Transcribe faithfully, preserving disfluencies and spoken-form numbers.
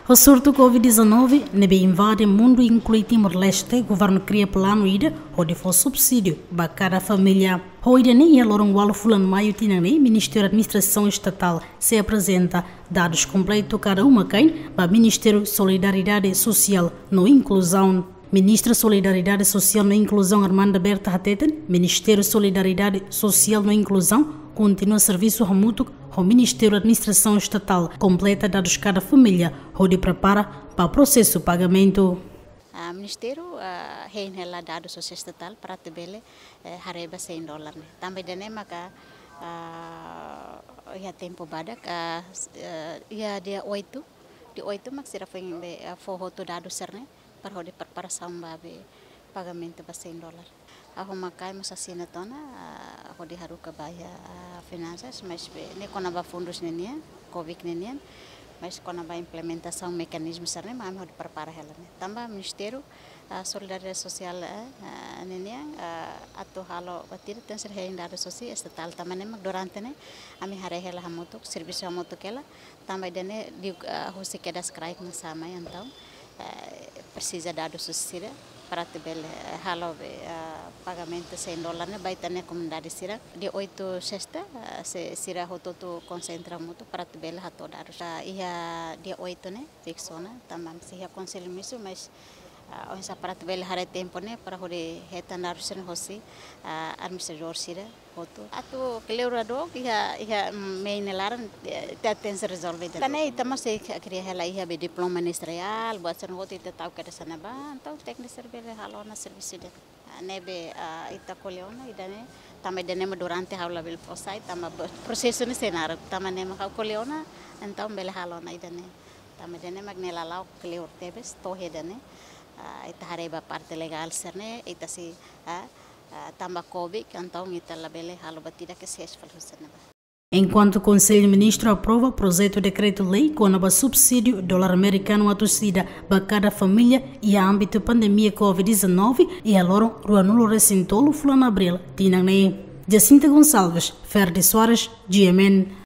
Ho surtu COVID dezanove ne'ebé invade mundu, inklui Timor-Leste, governu kria planu ida hodi fó subsídiu ba kada família. Ho ida-ne'e, iha loron ualu fulan Maiu tinan ne'e, Ministériu Administrasaun Estatál sei aprezenta dadus kompletu kada uma-kain ba Ministériu Solidariedade Sosiál no Inkluzaun. Ministru Solidariedade Sosiál no Inkluzaun, Armanda Berta, hateten Ministériu Solidariedade Sosiál no Inkluzaun kontinua servisu hamutuk ho Ministériu Administrasaun Estatál, kompleta dadus kada família hodi prepara ba prosesu pagamentu. Ah, Ministériu, ah, hein hela dadus hosi Estatál para atu bele, eh, haree ba sein dolar ne'e. Tanba ida-ne'e maka, ah, iha tempu badak, ah, s-, eh, iha dia oito, dia oito mak sira foin be, ah, fó hotu dadus sira-ne'e para hodi preparasaun ba be pagamentu ba sein dolar. Ha'u ho makai mós asina tiha ona, ah, hodi haruka ba iha, ah, finansas, mas be ne'e kona-ba fundus ninian, COVID ninian, mas kona-ba implementasaun mekanizmu sira-ne'e mak ami hodi prepara hela ne'e. Tanba Ministériu, ah, Solidariedade Sosiál, eh, ah, ninian, ah, atu halo batida tenke ser hein dadus hosi Estatál, tanba ne'e mak durante ne'e ami haree hela hamutuk, servisu hamutuk hela, tanba ida-ne'e di, ah, husi kedas kraik mak sai mai, entaun, eh, presiza dadus hosi sira para atu bele, eh, halo be, ah, pagamentu sein dolar ne'e ba ita-nia komunidade sira. Dia oito sesta, ah, se sira hotu-hotu konsentra hamutuk para atu bele hato'o dadus. Ah, iha dia oito ne'e fiksu ona, tanba sei iha konsellu misu, mas, ah, oinsá para atu bele haree tempu ne'e para hodi hetan dadus sira-ne'e hosi, ah, administradór sira hotu. Atu kleur dook iha, iha, mm, meiu nia laran, eh, ita tenke rezolve ida. Tan ne'e ita mós sei kria hela iha be diploma ministeriál, buat sira-ne'e hotu ita tau kedas iha ne'ebá, entaun tékniku sira bele halo ona servisu ida. Ah, ne'ebé, ah, ita ko'alia ona ida-ne'e, tanba ida-ne'e mak durante ha'u labele fó sai, tanba be prosesu ne'e sei naruk, tanba ne'e mak ha'u ko'alia ona, entaun bele halo ona ida-ne'e. Tanba ida-ne'e mak ne'e lala'ok kleur tebes, to'o iha ida-ne'e, ah, ita haree ba parte legál sira-ne'e, ita sei, ah, ah, tanba COVID, entaun ita labele halo batida ke ses fal husi ne'ebá. Enkuantu Konsellu Ministru aprova projetu dekretu-lei kona-ba subsídiu dolar amerikanu atus ida ba kada família iha ámbitu pandemia COVID dezanove, iha loron ruanulu resin tolu fulan Abríl tinan ne'e. Jacinta Gonçalves, Ferdi Soares, G M N.